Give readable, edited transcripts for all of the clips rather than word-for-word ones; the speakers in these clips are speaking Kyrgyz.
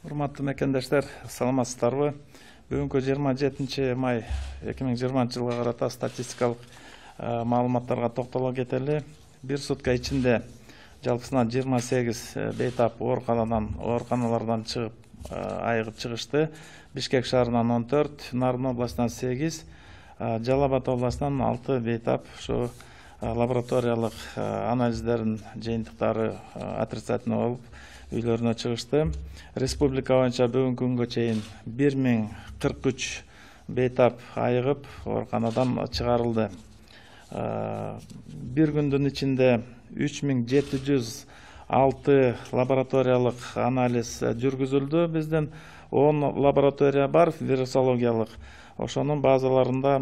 Урматтуу мекендештер, саламатсыздарбы? Бүгүнкү 27 май 2020 жылга карата статистикалык маалыматтарга токтоло кетели. Бир сутка ичинде жалпысынан 28 бейтап ооруканалардан чыгып, айыгып чыгышты. Бишкек шаарынан 14, Нарын областынан 8, Жалал Абад областынан 6 бейтап ушу лабораториялык анализдердин жыйынтыктары отрицательный болуп үйлөрүнө чыгышты. Республика боюнча бүгүнкү күнгө чейин 1043 бейтап айыгып ооруканадан чыгарылды. Бир күндүн ичинде 3706 лабораториялык анализ жүргүзүлдү. Биздин 10 лаборатория бар вирусологиялык. Ошонун базаларында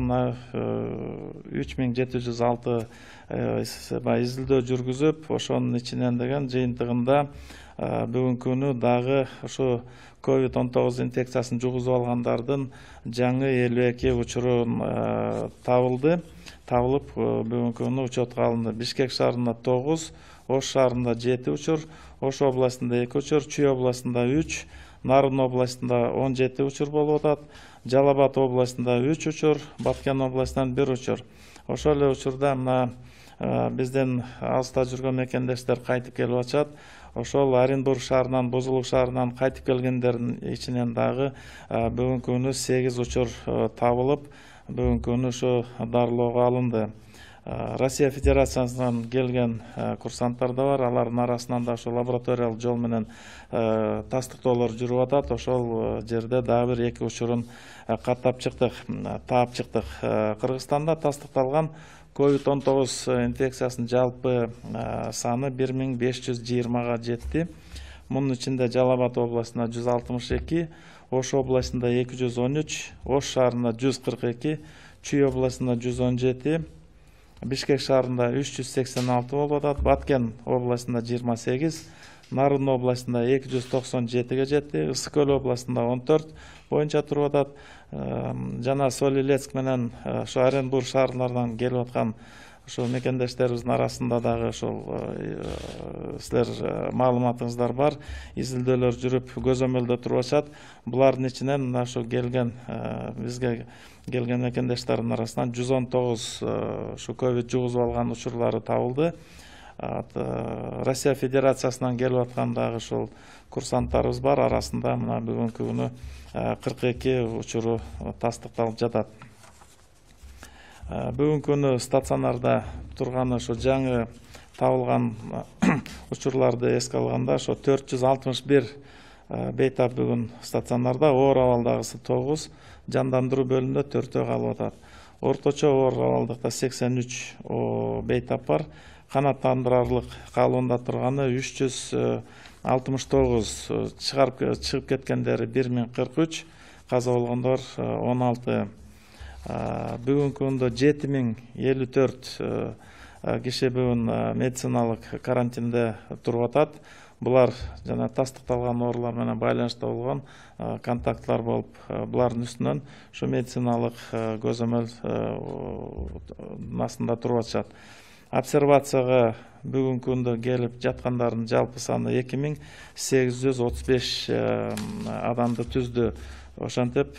3706 изилдөө жүргүзүп, ошонун ичинен деген жыйынтыгында бүгүнкү күнү дагы ушу COVID-19 инфекциясын жугузуп алгандардын жаңы 52 учуру табылып, бүгүнкү күнү учетко алынды. Бишкек шаарында 9, Ош шаарында 7 учур, Ош областында 2 учур, Чүй областында 3, Нарын областында 17 учур болуп атат, Жалал Абад областында 3 учур, Баткен областынан 1 учур. Ошол эле учурда биздин алыста жүргөн мекендештер кайтып келип атышат. Ошол Оренбург шаарынан, Бузулук шаарынан кайтып келгендердин ичинен дагы бүгүнкү күнү 8 учур табылып, бүгүнкү күнү ушу дарылоого алынды. Россия Федерациясынан келген курсанттар да бар. Алардын арасынан да ошо лабораториялык жол менен тастыктоолор жүрүп атат. Ошол жерде дагы бир 2 учурун таап чыктык. Кыргызстанда тастыкталган COVID-19 инфекциясынын жалпы саны 1520-га жетти. Мунун ичинде Жалал Абад областында 162, Ош областында 213, Ош шаарында 142, Чүй областында 117, Бишкек шаарында 386 болуп атат, Баткен областында 28, Нарын областында 297-ге жетти, Ысык Көл областында 14 боюнча туруп атат. Жана Солилецк менен ошо Оренбург шаарларынан келип аткан ошо мекендештерибиздин арасында дагы ошол силер маалыматыңыздар бар. Изилдөөлөр жүрүп, көзөмөлдө туруп атышат. Булардын ичинен ошо бизге келген мекендештердин арасынан 119 ушу ковид жугузуп алган учурлары табылды. Россия Федерациясынан келип аткан дагы ошол курсанттарыбыз бар. Арасында мына бүгүнкү күнү 42 учуру тастыкталып жатат. Бүгүнкү күнү стационарда турган ошо жаңы табылган учурларды эске алганда ошо 461 бейтап бүгүн стационарда, оор абалдагысы 9, жандандыруу бөлүмүндө 4 калып атат. Орточо оор абалдыкта 83 бейтап бар. Канааттандырарлык калыбында турганы 369, чыгып кеткендери 1043, каза болгондор 16. Бүгүнкү күндө 7054 киши бүгүн медициналык карантинде туруп атат. Булар жана тастыкталган оорулар менен байланышта болгон контактлар болуп, булардын үстүнөн ушу медициналык көзөмөл астында туруп атышат. Обсервацияга бүгүнкү күндө келип жаткандардын жалпы саны 2835 адамды түздү. Ошентип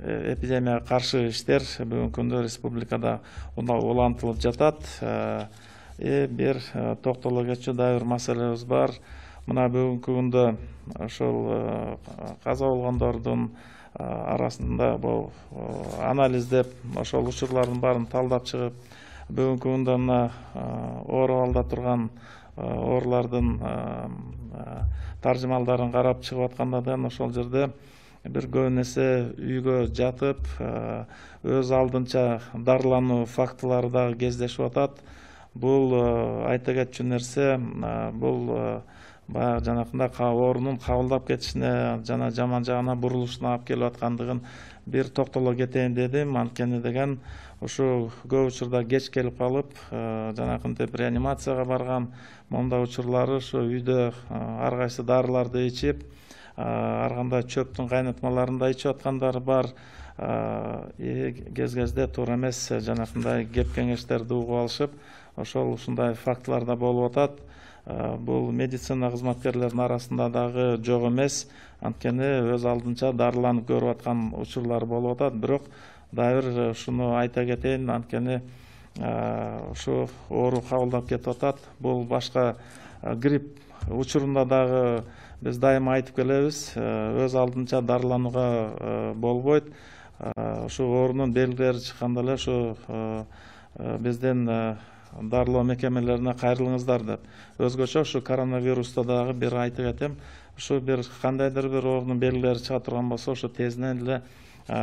эпидемияга каршы иштер бүгүнкү күндө республикада улантылып жатат. Бир токтоло кетчү дагы бир маселебиз бар. Мына бүгүнкү күндө ошол каза болгондордун арасында бул анализдеп, ошол учурлардын баарын талдап чыгып, бүгүнкү күндө мына оор абалда турган оорулардын таржымалдарын карап чыгып атканда да ошол жерде бир көбүн эсе үйгө жатып, өз алдынча дарылануу фактылары дагы кездешип атат. Бул айта кетчү нерсе, бул баягы жанакындай оорунун кабылдап кетишине жана жаман жагына бурулушуна алып келип аткандыгын бир токтоло кетейин дедим. Анткени деген ушу көп учурда кеч келип калып, жанакынтип реанимацияга барган, мондай учурлары ушу үйдө ар кайсы дарыларды ичип, ар кандай чөптүн кайнатмаларын да ичип аткандар бар. Кез-кезде туура эмес жанакындай кеп кеңештерди угуп алышып, ошол ушундай фактылар да болуп атат. бул медицина кызматкерлеринин арасында дагы жок эмес. Анткени өз алдынча дарыланып көрүп аткан учурлар болуп атат. Бирок дагы бир ушуну айта кетейин, анткени ушу оору кабылдап кетип атат. Бул башка грипп учурунда дагы биз дайыма айтып келебиз, өз алдынча дарыланууга болбойт. Ушу оорунун белгилери чыкканда эле ушу биздин дарылоо мекемелерине кайрылыңыздар деп. Өзгөчө ушу коронавируста дагы бир айтып кетем. Ушу бир кандайдыр бир оорунун белгилери чыга турган болсо, ошо тезинен эле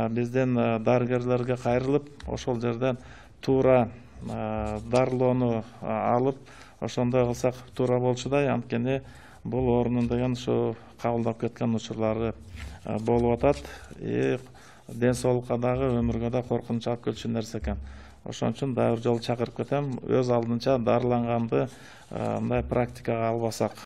биздин дарыгерлерге кайрылып, ошол жерден туура дарылоону алып, ошондой кылсак туура болчудай. Анткени бул оорунун деген ушу кабылдап кеткен учурлары болуп атат. Ден соолукка дагы, өмүргө да коркунуч алып келчү нерсе экен. Ошон үчүн дагы бир жолу чакырып кетем, өз алдынча дарыланганды мындай практикага албасак